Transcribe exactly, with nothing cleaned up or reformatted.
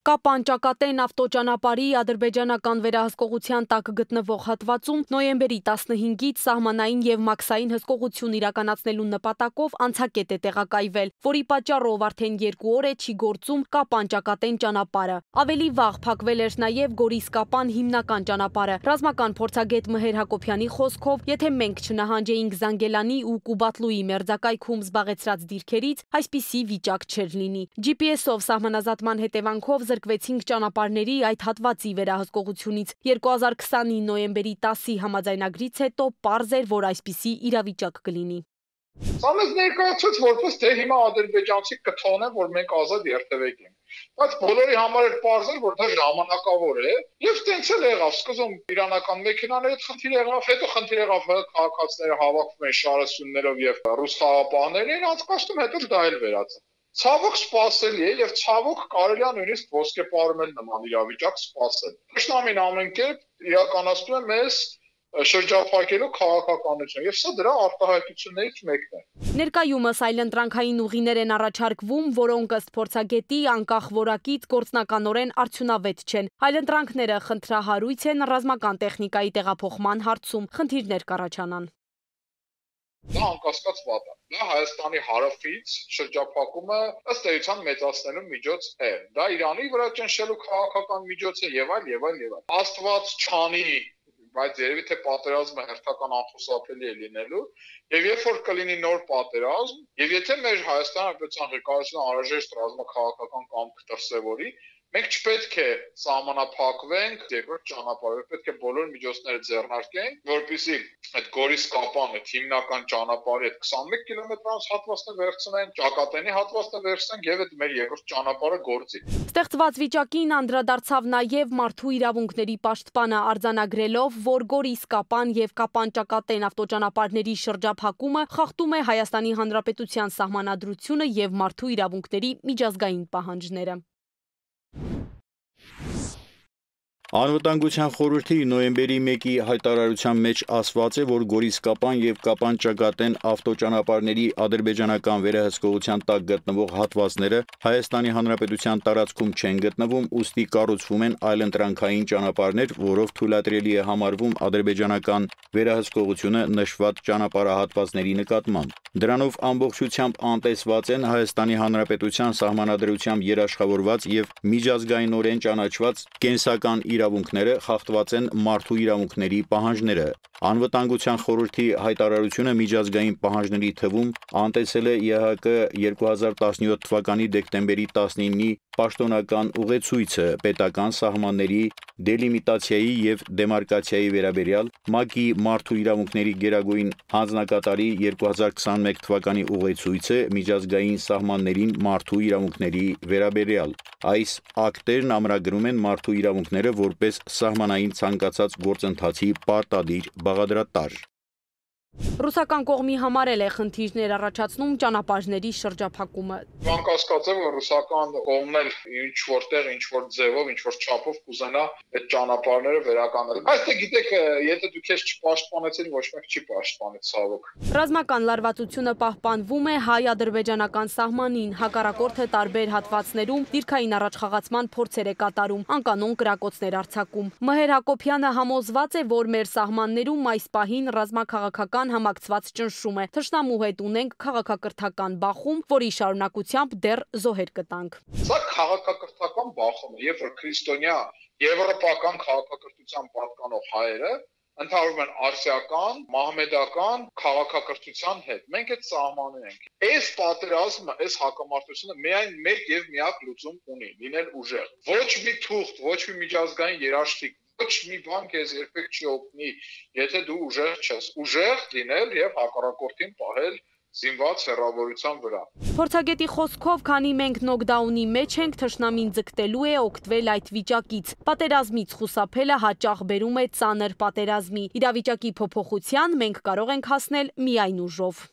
Կապան ճակատեն ավտոճանապարհի ադրբեջանական վերահսկողության տակ գտնվող հատվածում նոյեմբերի տասնհինգից սահմանային եւ մաքսային հսկողություն իրականացնելու նպատակով անցակետ է տեղակայվել, որի պատճառով արդեն երկու օր է չի գործում Կապան ճակատեն ճանապարհը։ Ավելի վաղ փակվել էր նաեւ Գորիս-Կապան հիմնական ճանապարհը։ Ռազմական փորձագետ Մհեր Հակոբյանի խոսքով, եթե մենք չնահանջեինք Զանգելանի ու Կուբատլուի մերձակայքում զբաղեցրած դիրքերից, այսպիսի վիճակ չէր լինի։ Ջի Պի Էսով սահմանազատման հետևանքով զրկվեցինք ճանապարհների այդ հատվածի վերահսկողությունից։ երկու հազար քսանի նոյեմբերի տասի համաձայնագրից հետո պարզ էր, որ այսպիսի իրավիճակ կլինի։ Սա մեզ ներկայացուց որպես թե հիմա ադրբեջանցի կթողնեն, որ մենք ազատ երթևեկենք։ Բայց բոլորի համար էր պարզ էր, որ դա ժամանակավոր է, եւ տենց էլ եղավ։ Սկզբում իրանական մեքենաների խնդիր եղավ, հետո խնդիր եղավ քաղաքացիները հավաքվում են շարասյուններով եւ ռուս խաղապահներին անցկացնում, հետո դա էլ վերացավ։ Ցավոք սպասելի է եւ ցավոք կարելի է նույնիսկ ոսկեպարում էլ նման իրավիճակ սպասել։ Թշնամին ամեն կերպ իրականացնում է մեզ շրջափակելու քաղաքականություն եւ սա դրա արտահայտություններից մեկն է։ Ներկայումս այլընտրանքային ուղիներ են առաջարկվում, որոնք ըստ փորձագետի անկախ որակից գործնականորեն արդյունավետ չեն։ Այլընտրանքները խնդրահարույց են ռազմական տեխնիկայի տեղափոխման հարցում, խնդիրներ կառաջանան։ Դա անկասկած վատ է։ Դա Հայաստանի հարավից շրջափակումը ըստ էության մեծացնելու միջոց է։ Դա Իրանի վրա ճնշելու քաղաքական միջոց է եւ այլ եւ այլ եւ այլ։ Աստված չանի, բայց երևի թե պատերազմը հերթական անխուսափելի է լինելու, եւ երբ որ կլինի նոր պատերազմ, եւ եթե մեր Հայաստանի Հանրապետության ղեկավարությունը անհրաժեշտ ռազմաքաղաքական կամք դրսևորի, մենք չպետք է սահմանափակվենք երկրորդ ճանապարհով, պետք է բոլոր միջոցները ձեռնարկենք, որպեսզի այդ Գորիս-Կապան այդ հիմնական ճանապարհի այդ քսանմեկ կիլոմետրանոց հատվածը վերցնենք, ճակատենի հատվածը վերցնենք եւ այդ մեր երկրորդ ճանապարհը գործի։ Ստեղծված վիճակին անդրադարձավ նաեւ մարդու իրավունքների պաշտպանը արձանագրելով, որ Գորիս-Կապան եւ Կապան-ճակատեն ավտոճանապարհների շրջափակումը խախտում է Հայաստանի Հանրապետության սահմանադրությունը եւ մարդու իրավունքների միջազգային պահանջները։ Անվտանգության խորհրդի նոյեմբերի մեկի հայտարարության մեջ ասված է, որ Գորիս-Կապան եւ Կապան-ճակատեն ավտոճանապարհների ադրբեջանական վերահսկողության տակ գտնվող հատվածները Հայաստանի Հանրապետության տարածքում չեն գտնվում, ուստի կառուցվում են այլընտրանքային ճանապարհներ, որով թույլատրելի է համարվում ադրբեջանական վերահսկողությունը նշված ճանապարհահատվածների նկատմամբ։ Դրանով ամբողջությամբ անտեսված են Հայաստանի Հանրապետության սահմանադրությամբ երաշխավորված եւ միջազգայինորեն ճանաչված կենսական իրավունքները, խախտված են մարդու իրավունքների պահանջները։ Անվտանգության խորհրդի հայտարարությունը միջազգային պահանջների թվում անտեսել է Ե Հ Կ երկու հազար տասնյոթ թվականի դեկտեմբերի տասնինի պաշտոնական ուղեցույցը պետական սահմանների դելիմիտացիայի եւ դեմարկացիայի վերաբերյալ, ՄԱԿ-ի մարդու իրավունքների գերագույն հանձնակատարի երկու հազար քսանմեկ թվականի ուղեցույցը միջազգային սահմաններին մարդու իրավունքների վերաբերյալ։ Այս ակտերն ամրագրում են մարդու իրավունքները որպես սահմանային ցանկացած գործընթացի պարտադիր բաղադրատար։ Ռուսական կողմի համարել է խնդիրներ առաջացնում ճանապարհների շրջափակումը։ Անկասկած է, որ ռուսական կողմն էլ ինչ որտեղ, ինչ որ ձևով, ինչ որ չափով կուզենա այդ ճանապարհները վերականգնել։ Բայց դե գիտեք, եթե դուք քեզ չպաշտպանեցին, ոչ մեկ չի պաշտպանի, ցավոք։ Ռազմական լարվածությունը պահպանվում է հայ-ադրբեջանական սահմանին, հակառակորդը տարբեր հատվածներում դիրքային առաջխաղացման փորձեր է կատարում, անկանոն կրակոցներ արձակում։ Մհեր Հակոբյանը համոզված է, որ մեր սահմաններում այս պահին ռազմաքաղաքական համակցված ճնշում է։ Թշնամու հետ ունենք քաղաքակրթական բախում, որի շարունակությամբ դեռ զոհեր կտանք։ Սա քաղաքակրթական բախում է, երբ որ քրիստոնյա եվրոպական քաղաքակրթության պատկանող հայերը ընդհանրում են արսիական, մահմեդական քաղաքակրթության հետ։ Մենք այդ սահմանում ենք։ Այս պատերազմը, այս հակամարտությունը միայն մեկ եւ միակ լուծում ունի՝ լինել ուժեղ։ Ոչ մի թուղթ, ոչ մի միջազգային երաշխիք, ոչ մի բան քեզ երբեք չի օգնի, եթե դու ուժեղ չես։ Ուժեղ լինել եւ հակառակորդին պահել զինված հեռավորության վրա։ Փորձագետի խոսքով, քանի մենք նոկդաունի մեջ ենք, թշնամին ձգտելու է օգտվել այդ վիճակից։ Պատերազմից խուսափելը հաճախ բերում է ծանր պատերազմի։ Իրավիճակի փոփոխության մենք կարող ենք հասնել միայն ուժով։